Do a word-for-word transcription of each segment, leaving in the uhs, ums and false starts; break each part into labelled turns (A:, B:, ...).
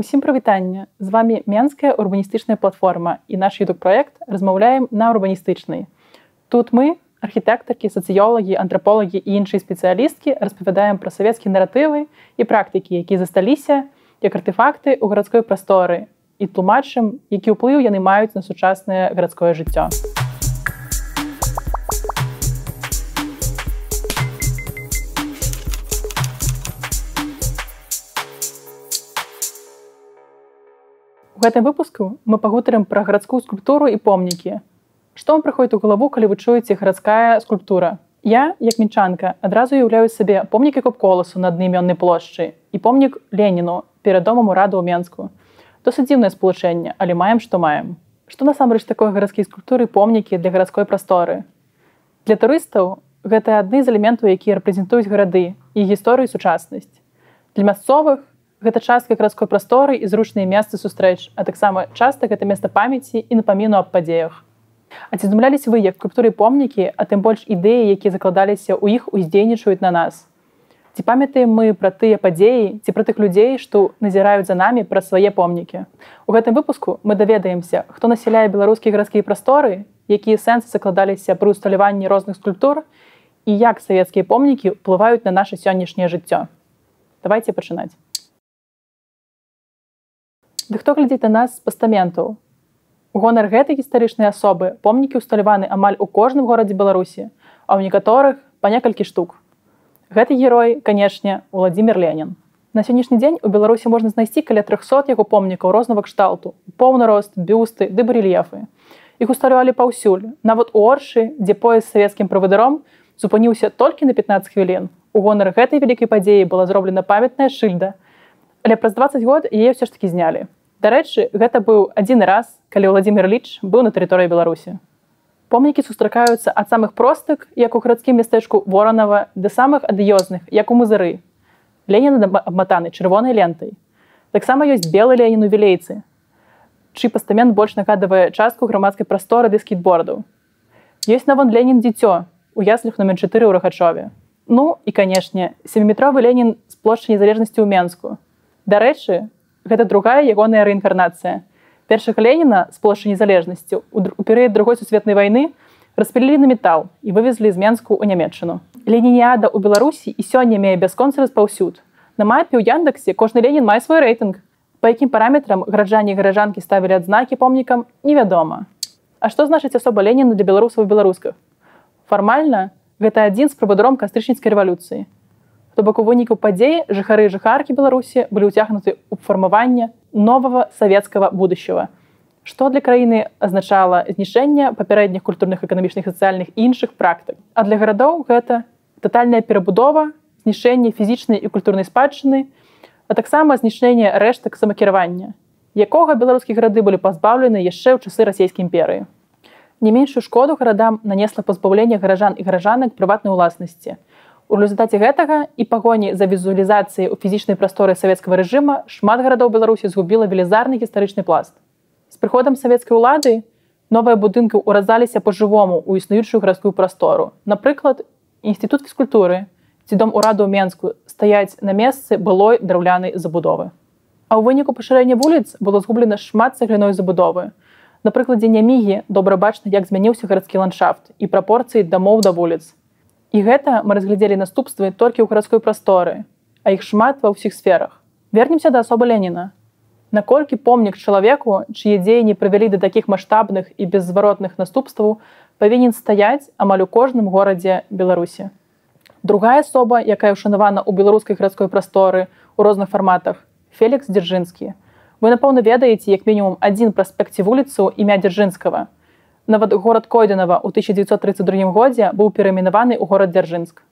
A: Усім прывітанне! З вами Менская урбаністычная платформа і наш ютуб-праект размаўляем на урбаністычнай. Тут мы, архітэктаркі, сацыёлагі, антраполагі і іншыя спецыялісткі распавядаем пра савецкія наратывы і практыкі, якія засталіся як артефакты ў гарадской прасторы і тлумачым, які ўплыў яны маюць на сучаснае гарадское жыццё. У гэтым выпуску мы пагутарым пра гарадскую скульптуру і помнікі. Што вам прыходзіць у галаву, калі вы чуеце гарадская скульптура? Я, як мінчанка, адразу уяўляю сабе помнік Копколасу на аднайменнай плошчы і помнік Леніну перад домам урада ў Менску. Досыць дзіўнае спалучэнне, але маем, што маем. Што насамрэч такое гарадскія скульптуры і помнікі для гарадской прасторы? Для турыстаў гэта адны з элементаў, якія рэпрэзентуюць гарады і гісторыю і сучаснасць. Для мясцовых гэта частка гарадской прасторы і зручныя месцы сустрэч, а таксама часта гэта месца памяці і напаміну аб падзеях. А ці здумляліся вы, як скульптуры і помнікі, а тым больш ідэі, якія закладаліся ў іх, уздзейнічаюць на нас? Ці памятаем мы пра тыя падзеі, ці пра тых людзей, што назіраюць за намі пра свае помнікі? У гэтым выпуску мы даведаемся, хто насяляе беларускія гарадскія прасторы, якія сэнсы закладаліся пры усталяванні розных скульптур і як савецкія помнікі ўплываюць на наша сённяшняе жыццё. Давайце пачынаць. Ды хто глядзіць на нас з пастаментаў? У гонар гэтай гістарычнай асобы помнікі ўсталяваны амаль у кожным горадзе Беларусі, а ў некаторых па некалькі штук. Гэты герой, канешне, Уладзімір Ленін. На сённяшні дзень у Беларусі можна знайсці каля трохсот яго помнікаў рознага кшталту, поўны рост, бюсты ды барэльефы. Іх усталявалі паўсюль, нават у Оршы, дзе пояс з савецкім правадыром зупыніўся толькі на пятнаццаць хвілін. У гонар гэтай вялікай падзеі была зроблена памятная шыльда, але праз дваццаць год яе ўсё ж такі знялі. Дарэчы, гэта быў адзіны раз, калі Уладзімір Іліч быў на тэрыторыі Беларусі. Помнікі сустракаюцца ад самых простых, як у гарадскім мястэчку Воранава, да самых адыёзных, як у Мазыры. Ленін абматаны чырвонай лентай. Таксама ёсць белы Ленін у Вілейцы, чый пастамент больш нагадвае частку грамадскай прасторы ды скейтбордаў. Ёсць нават Ленін дзіцё у яслях номер чатыры ў Рахачове. Ну і, канешне, сяміметровы Ленін з плошчы Незалежнасці ў Менску. Дарэчы, гэта другая ягоная рэінкарнацыя. Першага Леніна з плошчы Незалежнасці у перыяд другой сусветнай вайны распілілі на метал і вывезлі з Менску ў Нямецчыну. Ленініада ў Беларусі і сёння мае бясконцы распаўсюд. На мапе ў Яндексе кожны Ленін мае свой рэйтынг. Па якім параметрам гараджане і гараджанкі ставілі адзнакі помнікам, невядома. А што значыць асоба Леніна для беларусаў і беларускіх? Фармальна, гэта адзін з правадыром кастрычніцкай рэвалюцыі. То бок у выніку падзеі жыхары і жыхаркі Беларусі былі ўцягнуты ў фармаванне новага савецкага будущего, што для краіны азначала знішэнне папярэдніх культурных, эканамічных, сацыяльных і іншых практык. А для гарадоў гэта татальная перабудова, знішэнне фізічнай і культурнай спадчыны, а таксама знішэнне рэштак самакіравання, якога беларускія гарады былі пазбаўлены яшчэ ў часы расійскай імперыі. Не меншую шкоду гарадам нанесла пазбаўленне гараджан і гараджанак прыватнай уласнасці. У результаце гэтага і пагоні за візуалізацыяй у фізічнай прасторы савецкага рэжыма шмат гарадоў Беларусі згубіла велізарны гістарычны пласт. З прыходам савецкай улады новыя будынкі ўразаліся па-жывому ў існуючую гарадскую прастору. Напрыклад, інстытут фізкультуры ці дом ураду ў Менску стаяць на месцы былой драўлянай забудовы. А ў выніку пашырэння вуліц было згублена шмат цагляной забудовы. На прыкладзе Нямігі добра бачна, як змяніўся гарадскі ландшафт і прапорцыі дамоў да вуліц. І гэта мы разглядзелі наступствы толькі ў гарадской прасторы, а іх шмат ва ўсіх сферах. Вернемся да асобы Леніна. Наколькі помнік чалавеку, чые дзеянні прывялі да такіх маштабных і беззваротных наступстваў, павінен стаяць амаль у кожным горадзе Беларусі. Другая асоба, якая ўшанавана ў беларускай гарадской прасторы ў розных фарматах, Фелікс Дзяржынскі. Вы, напэўна, ведаеце як мінімум адзін праспект ці вуліцу імя Дзяржынскага. Нават горад Койдынава ў тысяча дзевяцьсот трыццаць другім годзе быў перайменаваны ў горад Дзяржынск.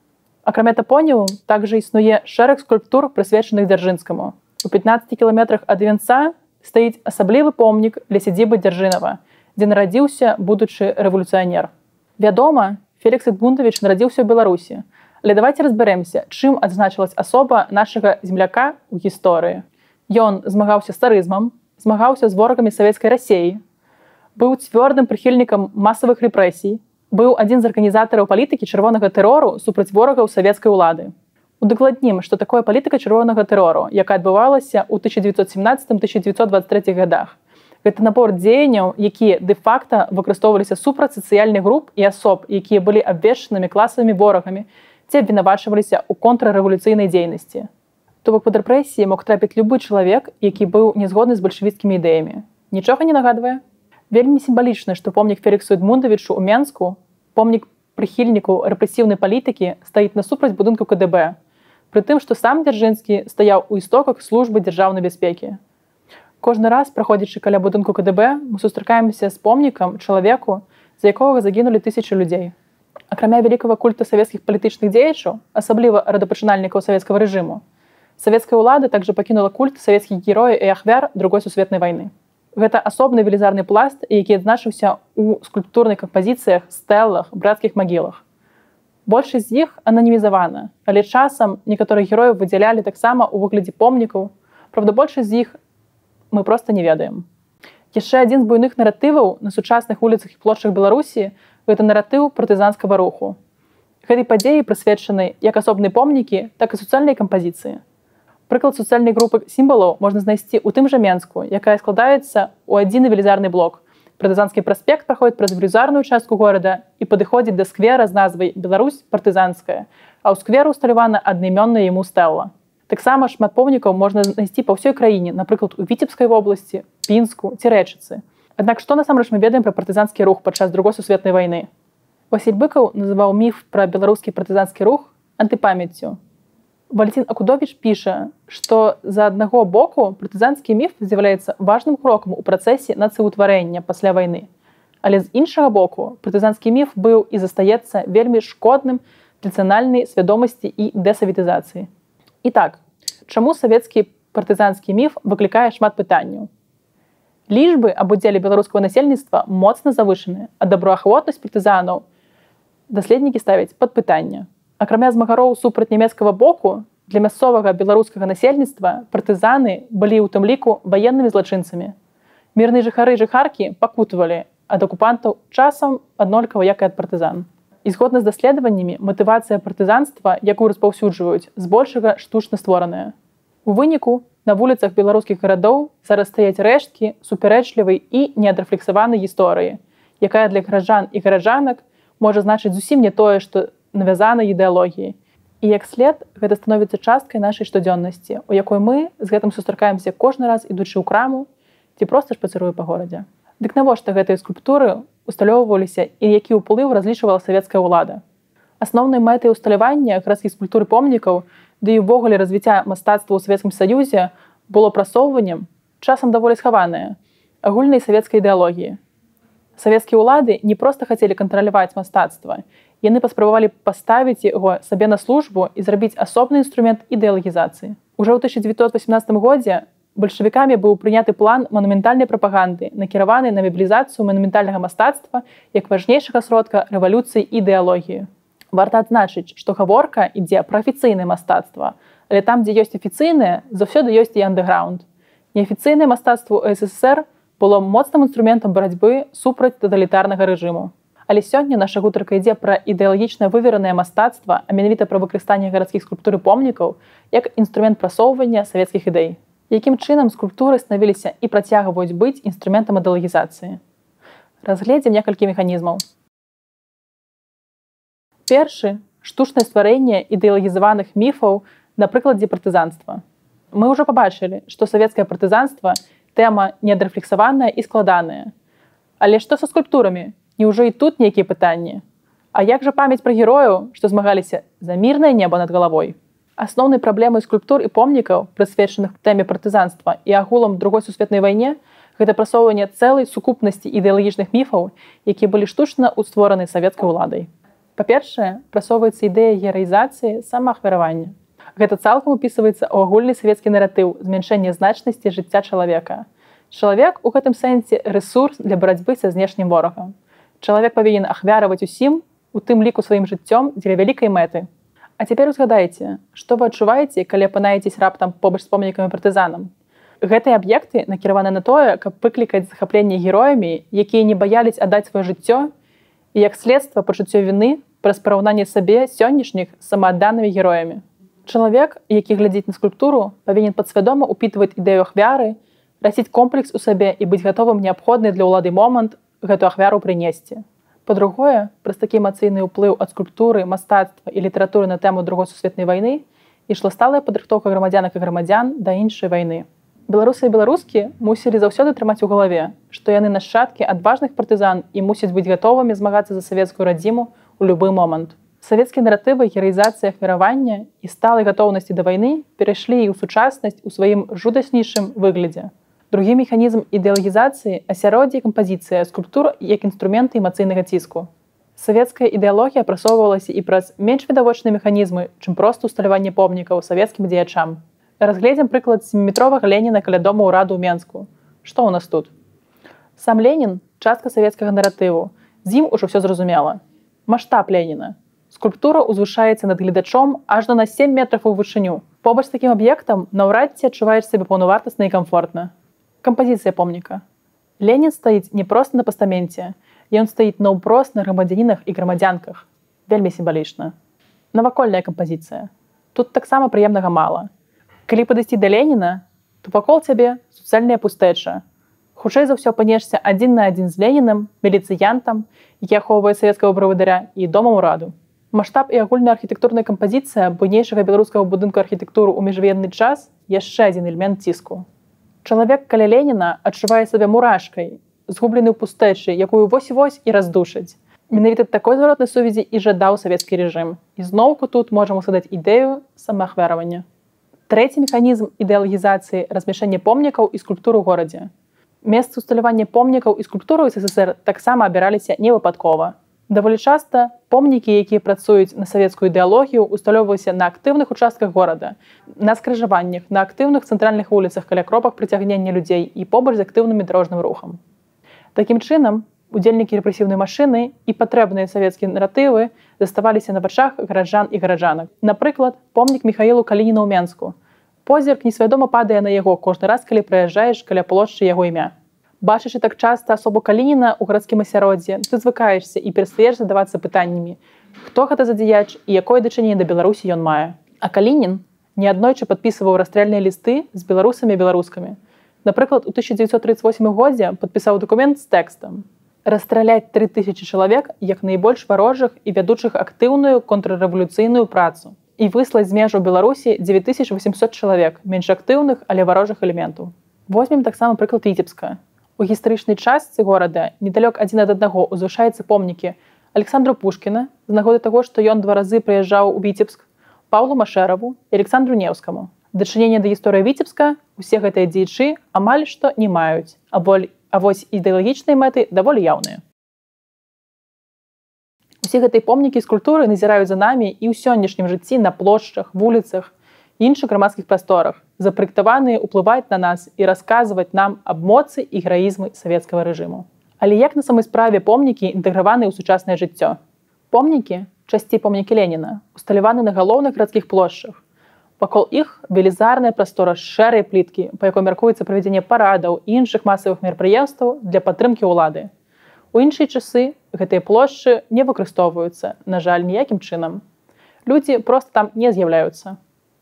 A: Акрамя тапоніму, также існуе шэраг скульптур, прысвечаных Дзяржынскаму. У пятнаццаці кіламетрах ад венца стаіць асаблівы помнік для сядзібы Дзяржынава, дзе нарадзіўся будучы рэвалюцыянер. Вядома, Фелікс Эдмундавіч нарадзіўся ў Беларусі, але давайце разбярэмся, чым адзначылась асоба нашага земляка ў гісторыі. Ён змагаўся з царызмам, змагаўся з ворагамі савецкай Расіі, быў цвёрдым прыхільнікам масавых рэпрэсій, быў адзін з арганізатараў палітыкі чырвонага тэрору супраць ворагаў савецкай улады. Удакладнім, што такое палітыка чырвонага тэрору, якая адбывалася ў тысяча дзевяцьсот семнаццатым — тысяча дзевяцьсот дваццаць трэцім гадах. Гэта набор дзеянняў, якія дэ-факта выкарыстоўваліся супраць сацыяльных груп і асоб, якія былі абвешчанымі класавымі ворагамі ці абвінавачваліся ў контррэвалюцыйнай дзейнасці. То бок пад рэпрэсіі мог трапіць любы чалавек, які быў не згодны з бальшавіцкімі ідэямі. Нічога не нагадвае? Вельмі сімвалічна, што помнік Феліксу Эдмундавічу ў Менску, помнік прыхільніку рэпрэсіўнай палітыкі, стаіць насупраць будынку ка дэ бэ, пры тым, што сам Дзяржынскі стаяў у істоках службы дзяржаўнай бяспекі. Кожны раз, праходзячы каля будынку ка дэ бэ, мы сустракаемся з помнікам чалавеку, за якога загінулі тысячы людзей. Акрамя вялікага культа савецкіх палітычных дзеячаў, асабліва радапачынальнікаў савецкага рэжыму, савецкая ўлада также пакінула культ савецкіх герояў і ахвяр другой сусветнай вайны. Гэта асобны велізарны пласт, які адзначыўся ў скульптурных кампазіцыях, стэлах, брацкіх магілах. Большасць з іх ананімізавана, але часам некаторых герояў выдзялялі таксама ў выглядзе помнікаў. Правда, большасць з іх мы проста не ведаем. Яшчэ адзін з буйных наратываў на сучасных вуліцах і плошчах Беларусі — гэта наратыў партызанскага руху. Гэтай падзеі прысвечаны як асобныя помнікі, так і суцэльныя кампазіцыі. Прыклад суцэльнай групы сімвалаў можна знайсці ў тым жа Менску, якая складаецца ў адзіны велізарны блок. Партызанскі праспект праходзіць праз велізарную частку горада і падыходзіць да сквера з назвай «Беларусь партызанская», а ў скверу усталявана аднайменная яму стэла. Таксама шмат помнікаў можна знайсці па ўсёй краіне, напрыклад, у Віцебскай вобласці, Пінску ці Рэчыцы. Аднак што насамрэч мы ведаем пра партызанскі рух падчас другой сусветнай вайны? Васіль Быкаў называў міф пра беларускі партызанскі рух антыпамяццю. Валентин Акудовіч піша, што з аднаго боку партызанскі міф з'яўляецца важным крокам у працэсе нацыўтварэння пасля вайны. Але з іншага боку, партызанскі міф быў і застаецца вельмі шкодным для нацыянальнай свядомасці і дэсаветызацыі. І так, чаму савецкі партызанскі міф выклікае шмат пытанняў? Лічбы аб удзеле беларускага насельніцтва моцна завышаныя, а добраахвотнасць партызанаў даследнікі ставяць пад пытанне. Акрамя змагароў супраць нямецкага боку, для мясцовага беларускага насельніцтва партызаны былі ў тым ліку ваеннымі злачынцамі. Мірныя жыхары і жыхаркі пакутавалі ад акупантаў часам аднолькава, як і ад партызан. І згодна з даследаваннямі, матывацыя партызанства, якую распаўсюджваюць, збольшага штучна створаная. У выніку на вуліцах беларускіх гарадоў зараз стаяць рэшткі супярэчлівай і неадрэфлексаванай гісторыі, якая для гараджан і гараджанак можа значыць зусім не тое, што навязанай ідэалогіі. І як след, гэта становіцца часткай нашай штодзённасці, у якой мы з гэтым сустракаемся кожны раз, ідучы ў краму ці проста шпацыруе па горадзе. Дык навошта гэтыя скульптуры усталёўваліся і які ўплыў разлічвала савецкая ўлада? Асноўнай мэтай усталявання гарадскіх скульптур і помнікаў, ды і ўвогуле развіцця мастацтва ў Савецкім Саюзе было прасоўваннем, часам даволі схаванае, агульнай савецкай ідэалогіі. Савецкія ўлады не проста хацелі кантраляваць мастацтва, яны паспрабавалі паставіць яго сабе на службу і зрабіць асобны інструмент ідэалагізацыі. Ужо ў тысяча дзевяцьсот васямнаццатым годзе бальшавікамі быў прыняты план манументальнай прапаганды, накіраваны на мабілізацыю манументальнага мастацтва як важнейшага сродка рэвалюцыі ідэалогіі. Варта адзначыць, што гаворка ідзе пра афіцыйнае мастацтва, але там, дзе ёсць афіцыйнае, заўсёды ёсць і андэграунд. Неафіцыйнае мастацтва ў эс эс эс эр было моцным інструментам барацьбы супраць таталітарнага рэжыму. Але сёння наша гутарка ідзе пра ідэалагічна выверанае мастацтва, а менавіта пра выкарыстанне гарадскіх скульптур і помнікаў як інструмент прасоўвання савецкіх ідэй. Якім чынам скульптуры станавіліся і працягваюць быць інструментам ідэалагізацыі? Разгледзім некалькі механізмаў. Першы – штучнае стварэнне ідэалагізаваных міфаў на прыкладзе партызанства. Мы ўжо пабачылі, што савецкае партызанства – тэма неадрэфлексаваная і складаная. Але што са скульптурамі? Няўжо і тут нейкія пытанні? А як жа памяць пра герояў, што змагаліся за мірнае неба над галавой? Асноўнай праблемай скульптур і помнікаў, прысвечаных тэме партызанства і агулам другой сусветнай вайне, гэта прасоўванне цэлай сукупнасці ідэалагічных міфаў, якія былі штучна ўствораны савецкай уладай. Па-першае, прасоўваецца ідэя гераізацыі самаахвяравання. Гэта цалкам упісваецца ў агульны савецкі наратыў змяншэння значнасці жыцця чалавека. Чалавек у гэтым сэнсе рэсурс для барацьбы са знешнім ворагам. Чалавек павінен ахвяраваць усім, у тым ліку сваім жыццём дзеля вялікай мэты. А цяпер узгадайце, што вы адчуваеце, калі апынаецесь раптам побач з помнікамі партызанам. Гэтыя аб'екты накіраваны на тое, каб выклікаць захапленне героямі, якія не баяліся аддаць сваё жыццё, і як следства пачуццё віны праз параўнанне сабе сённяшніх з самаадданымі героямі. Чалавек, які глядзіць на скульптуру, павінен падсвядома ўпітваць ідэю ахвяры, расіць комплекс у сабе і быць гатовым неабходны для ўлады момант гэту ахвяру прынесці. Па-другое, праз такі эмацыйны ўплыў ад скульптуры, мастацтва і літаратуры на тэму другой сусветнай вайны ішла сталая падрыхтоўка грамадзянак і грамадзян да іншай вайны. Беларусы і беларускі мусілі заўсёды трымаць у галаве, што яны нашчадкі адважных партызан і мусяць быць гатовымі змагацца за савецкую радзіму ў любы момант. Савецкія наратывы гераізацыі ахвяравання і сталай гатоўнасці да вайны перайшлі і ў сучаснасць у сваім жудаснейшым выглядзе. Другі механізм ідэалагізацыі асяроддзе і кампазіцыя скульптур як інструменты эмацыйнага ціску. Савецкая ідэалогія прасоўвалася і праз менш відавочныя механізмы, чым проста ўсталяванне помнікаў савецкім дзеячам. Разгледзім прыклад сяміметровага Леніна каля дома ўраду ў Менску. Што ў нас тут? Сам Ленін – частка савецкага наратыву. З ім ужо ўсё зразумела. Маштаб Леніна. Скульптура узвышаецца над гледачом аж на сем метраў у вышыню. Побач з такім аб'ектам наўрад ці адчуваеш сябе паўнавартасна і камфортна. Кампазіцыя помніка. Ленін стаіць не проста на пастаменце, ён стаіць наўпрост на грамадзянінах і грамадзянках. Вельмі сімвалічна. Навакольная кампазіцыя. Тут таксама прыемнага мала. Калі падысці да Леніна, то вакол цябе суцэльная пустэча. Хутчэй за ўсё апынешся адзін на адзін з Ленінам, міліцыянтам, які ахоўвае савецкага правадыра, і домам ураду. Маштаб і агульная архітэктурная кампазіцыя буйнейшага беларускага будынку архітэктуры ў міжваенны час яшчэ адзін элемент ціску. Чалавек каля Леніна адчувае сабе мурашкай, згублены ў пустэчы, якую вось-вось і раздушыць. Менавіта такой зваротнай сувязі і жадаў савецкі рэжым. І зноўку тут можам усадаць ідэю самаахвяравання. Трэці механізм ідэалагізацыі размяшэння помнікаў і скульптур у горадзе. Месцы ўсталявання помнікаў і скульптураў СССР таксама абіраліся невыпадкова. Даволі часта помнікі, якія працуюць на савецкую ідэалогію, усталёўваліся на актыўных участках горада, на скрыжаваннях, на актыўных цэнтральных вуліцах каля кропак прыцягнення людзей і побач з актыўным дарожным рухам. Такім чынам, удзельнікі рэпрэсіўнай машыны і патрэбныя савецкія наратывы заставаліся на вачах гараджан і гараджанак. Напрыклад, помнік Міхаілу Калініна ў Менску. Позірк несвядома падае на яго кожны раз, калі праязджаеш каля плошчы яго імя. Бачачы так часта асобу Калініна ў гарадскім асяроддзі, ты звыкаешся і перастаеш задавацца пытаннямі, хто гэта за дзеяч і якое дачыненне да Беларусі ён мае. А Калінін неаднойчы падпісваў расстрэльныя лісты з беларусамі і беларускамі. Напрыклад, у тысяча дзевяцьсот трыццаць восьмым годзе падпісаў дакумент з тэкстам: «Расстраляць тры тысячы чалавек як найбольш варожых і вядучых актыўную контррэвалюцыйную працу і выслаць з межаў Беларусі дзевяць тысяч восемьсот чалавек менш актыўных, але варожых элементаў». Возьмем таксама прыклад Віцебска. У гістарычнай частцы горада недалёк адзін ад аднаго узвышаюцца помнікі Александру Пушкіна з нагоды таго, што ён два разы прыязджаў у Віцебск, Паўлу Машэраву і Александру Неўскаму. Дачынення да гісторыі Віцебска усе гэтыя дзеячы амаль што не маюць, а вось ідэалагічныя мэты даволі яўныя. Усе гэтыя помнікі скульптуры назіраюць за намі і ў сённяшнім жыцці на плошчах, вуліцах і іншых грамадскіх прасторах, запраектаваныя ўплываць на нас і расказваць нам аб моцы і гераізмы савецкага рэжыму. Але як на самой справе помнікі інтэграваны ў сучаснае жыццё? Помнікі, часцей помнікі Леніна, усталяваны на галоўных гарадскіх плошчах. Вакол іх велізарная прастора з шэрай пліткі, па якой мяркуецца правядзенне парадаў і іншых масавых мерапрыемстваў для падтрымкі ўлады. У іншыя часы гэтыя плошчы не выкарыстоўваюцца, на жаль, ніякім чынам. Людзі проста там не з'яўляюцца.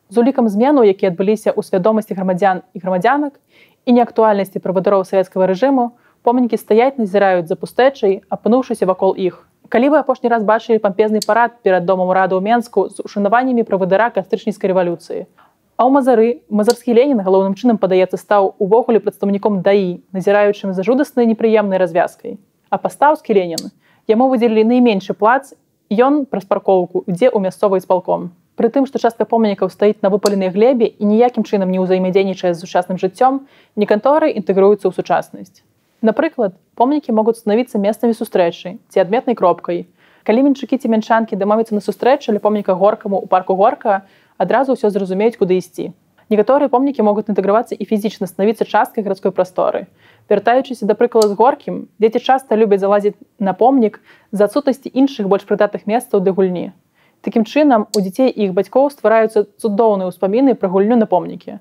A: З улікам зменаў, якія адбыліся ў свядомасці грамадзян і грамадзянак і неактуальнасці правадыроў савецкага рэжыму, помнікі стаяць назіраюць за пустэчай, апынуўшыся вакол іх. Калі вы апошні раз бачылі пампезны парад перад домам ураду ў Менску з ушанаваннямі правадыра кастрычніцкай рэвалюцыі? А ў Мазары мазарскі Ленін галоўным чынам, падаецца, стаў увогуле прадстаўніком даі, назіраючым за жудаснай непрыемнай развязкай. А пастаўскі Ленін, яму выдзелілі найменшы плац, ён праз паркоўку ідзе ў мясцовы іспалком. Пры тым, што частка помнікаў стаіць на выпаленай глебе і ніякім чынам не ўзаемадзейнічае з сучасным жыццём, некаторыя інтэгруюцца ў сучаснасць. Напрыклад, помнікі могуць станавіцца месцамі сустрэчы ці адметнай кропкай. Калі менчукі ці мянчанкі дамовяцца на сустрэчу ля помніка Горкаму ў парку Горка, адразу ўсё зразумеюць, куды ісці. Некаторыя помнікі могуць інтэгравацца і фізічна станавіцца часткай гарадской прасторы. Вяртаючыся да прыклада з Горкім, дзеці часта любяць залазіць на помнік з-за адсутнасці іншых больш прыдатных месцаў для гульні. Такім чынам, у дзяцей і іх бацькоў ствараюцца цудоўныя ўспаміны пра гульню на помнікі.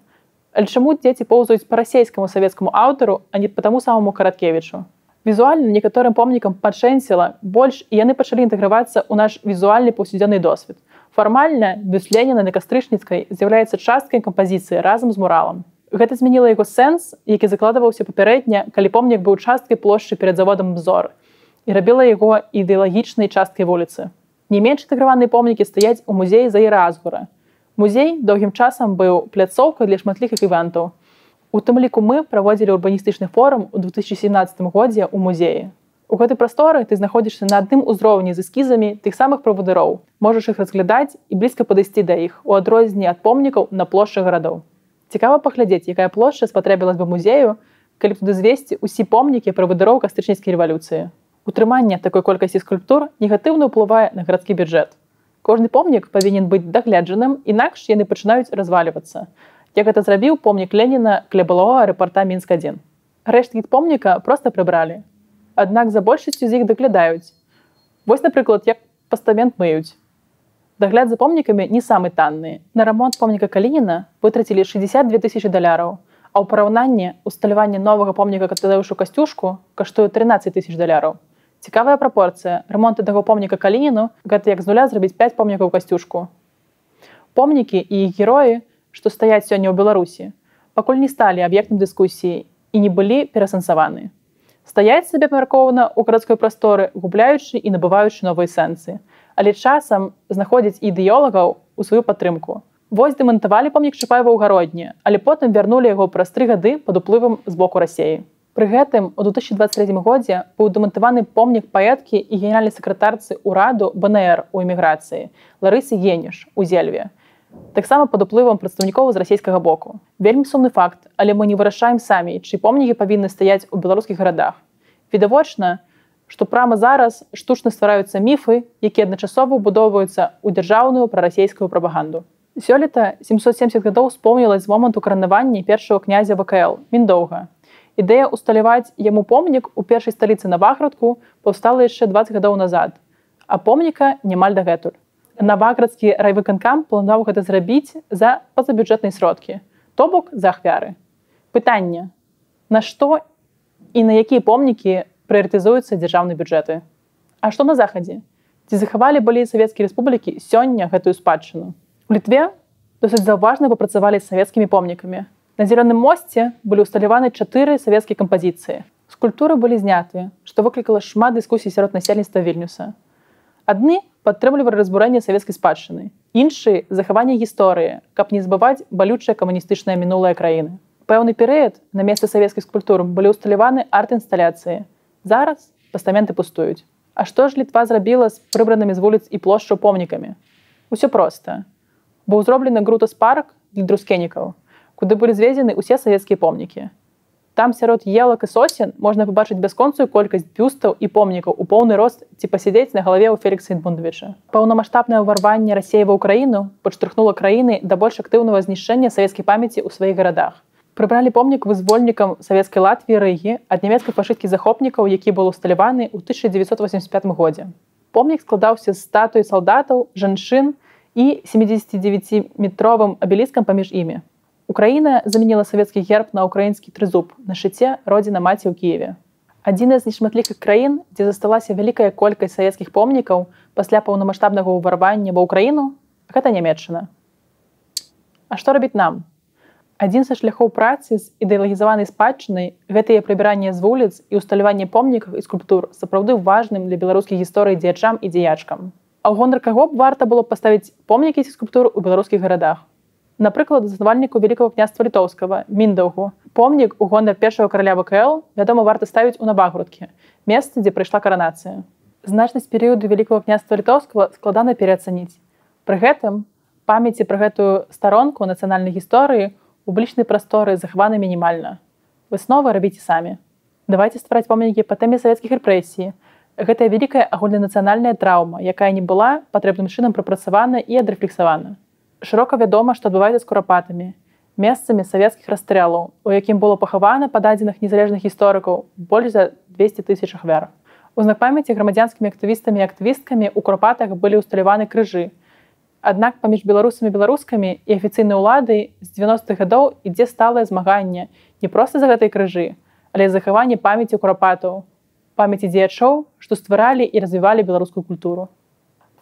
A: Але чаму дзеці поўзаюць па расейскаму савецкаму аўтару, а не па таму самому Караткевічу? Візуальна некаторым помнікам падшэнціла больш, і яны пачалі інтэгравацца ў наш візуальны паўсядзённы досвед. Фармальна бюст Леніна на Кастрычніцкай з'яўляецца часткай кампазіцыі разам з муралам. Гэта змяніла яго сэнс, які закладваўся папярэдня, калі помнік быў часткай плошчы перад заводам «Бзор» і рабіла яго ідэалагічнай часткай вуліцы. Не менш інтэграваныя помнікі стаяць у музеі Заіра Азгура. Музей доўгім часам быў пляцоўкай для шматлікіх івентаў. У тым ліку мы праводзілі урбаністычны форум у две тысячи семнадцатым годзе ў музеі. У гэтай прасторы ты знаходзішся на адным узроўні з эскізамі тых самых правадыроў, можаш іх разглядаць і блізка падысці да іх, у адрозненні ад помнікаў на плошчы гарадоў. Цікава паглядзець, якая плошча спатрэбілась бы музею, калі б туды звесці ўсе помнікі правадыроў кастрычніцкай рэвалюцыі. Утрыманне такой колькасці скульптур негатыўна ўплывае на гарадскі бюджэт. Кожны помнік павінен быць дагледжаным, інакш яны пачынаюць развалівацца. Як гэта зрабіў помнік Леніна каля былога аэрапорта Мінск адзін. Рэшткі помніка проста прыбралі. Аднак за большасцю з іх даглядаюць. Вось, напрыклад, як пастамент мыюць. Дагляд за помнікамі не самы танны. На рамонт помніка Калініна вытрацілі шэсцьдзясят дзве тысячы даляраў, а ў параўнанні усталяванне новага помніка Тадеушу Касцюшку каштуе трынаццаць тысяч даляраў. Цікавая прапорцыя. Рамонт аднаго помніка Калініну – гэта як з нуля зрабіць пяць помнікаў Касцюшку. Помнікі і іх героі, што стаяць сёння ў Беларусі, пакуль не сталі аб'ектам дыскусіі і не былі перасэнсаваны. Стаяць сабе памяркоўна ў гарадской прасторы, губляючы і набываючы новыя сэнсы, але часам знаходзяць ідэолагаў у сваю падтрымку. Вось дэмантавалі помнік Чапаева ў Гародні, але потым вярнулі яго праз тры гады пад уплывам з боку Расеі. Пры гэтым у две тысячи двадцать третьем годзе быў дэмантаваны помнік паэткі і генеральнай сакратарцы ўраду бэ эн эр у эміграцыі Ларысы Геніш у Зельве. Таксама пад уплывам прадстаўнікоў з расійскага боку. Вельмі сумны факт, але мы не вырашаем самі, чыі помнікі павінны стаяць у беларускіх гарадах. Відавочна, што прама зараз штучна ствараюцца міфы, якія адначасова ўбудоўваюцца ў дзяржаўную прарасейскую прапаганду. Сёлета сямсот семьдесят гадоў спомнілась з моманту каранавання першага князя вэ ка эл Міндоўга. Ідэя усталяваць яму помнік у першай сталіцы Наваградку паўстала яшчэ дваццаць гадоў назад, а помніка немаль дагэтуль. Наваградскі райвыканкам планаваў гэта зрабіць за пазабюджэтныя сродкі, то бок за ахвяры. Пытанне: на што і на якія помнікі прыярытызуюцца дзяржаўныя бюджэты? А што на захадзе? Ці захавалі былі савецкія рэспублікі сёння гэтую спадчыну? У Літве досыць заўважна папрацавалі з савецкімі помнікамі. На Зялёным мосце былі ўсталяваны чатыры савецкія кампазіцыі. Скульптуры былі знятыя, што выклікала шмат дыскусій сярод насельніцтва Вільнюса. Адны падтрымлівалі разбурэнне савецкай спадчыны, іншыя захаванне гісторыі, каб не забываць балючае камуністычнае мінулае краіны. Пэўны перыяд на месцы савецкіх скульптур былі ўсталяваны арт-інсталяцыі. Зараз пастаменты пустуюць. А што ж Літва зрабіла з прыбранымі з вуліц і плошчаў помнікамі? Усё проста. Быў зроблены Грутас-парк для друскенікаў, куды былі звезены ўсе савецкія помнікі. Там сярод елак і сосен можна пабачыць бясконцую колькасць бюстаў і помнікаў у поўны рост ці пасядзець на галаве ў Фелікса Эдмундавіча. Паўнамаштабнае ўварванне Расеі ва ўкраіну падштурхнула краіны да больш актыўнага знішчэння савецкай памяці ў сваіх гарадах. Прыбралі помнік вызвольнікам савецкай Латвіі Рыгі ад нямецкай фашысцкіх захопнікаў, які быў усталяваны ў тысяча дзевяцьсот восемьдесят пятым годзе. Помнік складаўся з статуі салдатаў, жанчын і семидзесятидевятиметровым абеліскам паміж імі. Украіна заменіла савецкі герб на украінскі трызуб на шчыце родзіна маці ў Кіеве. Адзіная з нешматлікіх краін, дзе засталася вялікая колькасць савецкіх помнікаў пасля паўнамаштабнага ўварвання ва ўкраіну, гэта Нямецчына. А што рабіць нам? Адзін са шляхоў працы з ідэалагізаванай спадчынай гэтае прыбіранне з вуліц і усталяванне помнікаў і скульптур сапраўды важным для беларускіх гісторый дзеячам і дзеячкам. А ў гонар каго б варта было паставіць помнікі ці скульптур у беларускіх гарадах? Напрыклад, заснавальніку Вялікага княства Літоўскага, Міндаўгу. Помнік у гонар першага караля вэ ка эл, вядома, варта ставіць у Наваградкі, месцы, дзе прайшла каранацыя. Значнасць перыяду Вялікага княства Літоўскага складана пераацаніць. Пры гэтым памяці пра гэтую старонку нацыянальнай гісторыі ў публічнай прасторы захаваны мінімальна. Высновы рабіце самі. Давайце ствараць помнікі па тэме савецкіх рэпрэсій. Гэта вялікая агульнанацыянальная траўма, якая не была патрэбным чынам прапрацавана і адрэфлексавана. Шырока вядома, што адбываецца з курапатамі, месцамі савецкіх расстрэлаў, у якім было пахавана па дадзеных незалежных гісторыкаў больш за двесце тысяч ахвяр. У знак памяці грамадзянскімі актывістамі і актывісткамі ў курапатах былі ўсталяваны крыжы. Аднак паміж беларусамі і беларускамі і афіцыйнай уладай з дзевяностых гадоў ідзе сталае змаганне не проста за гэтай крыжы, але захаванне памяці курапатаў, памяці дзеячоў, што стваралі і развівалі беларускую культуру.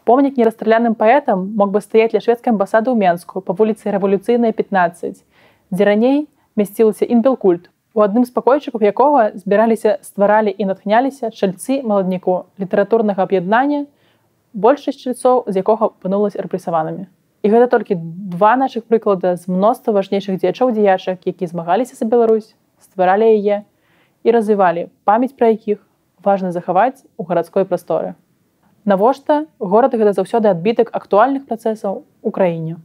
A: Помнік нерасстраляным паэтам мог бы стаяць ля шведскай амбасады ў Менску па вуліцы Рэвалюцыйнай пятнаццаць, дзе раней мясцілася інбелкульт, у адным з пакойчыкаў якога збіраліся, стваралі і натхняліся чальцы маладніку літаратурнага аб'яднання, большасць чальцоў з якога апынулася рэпрэсаванымі. І гэта толькі два нашых прыклада з мноства важнейшых дзеячоў-дзеячак, які змагаліся за Беларусь, стваралі яе і развівалі, памяць пра якіх важна захаваць у гарадской прасторы. Навошта горад гэта заўсёды адбітак актуальных працэсаў у краіне.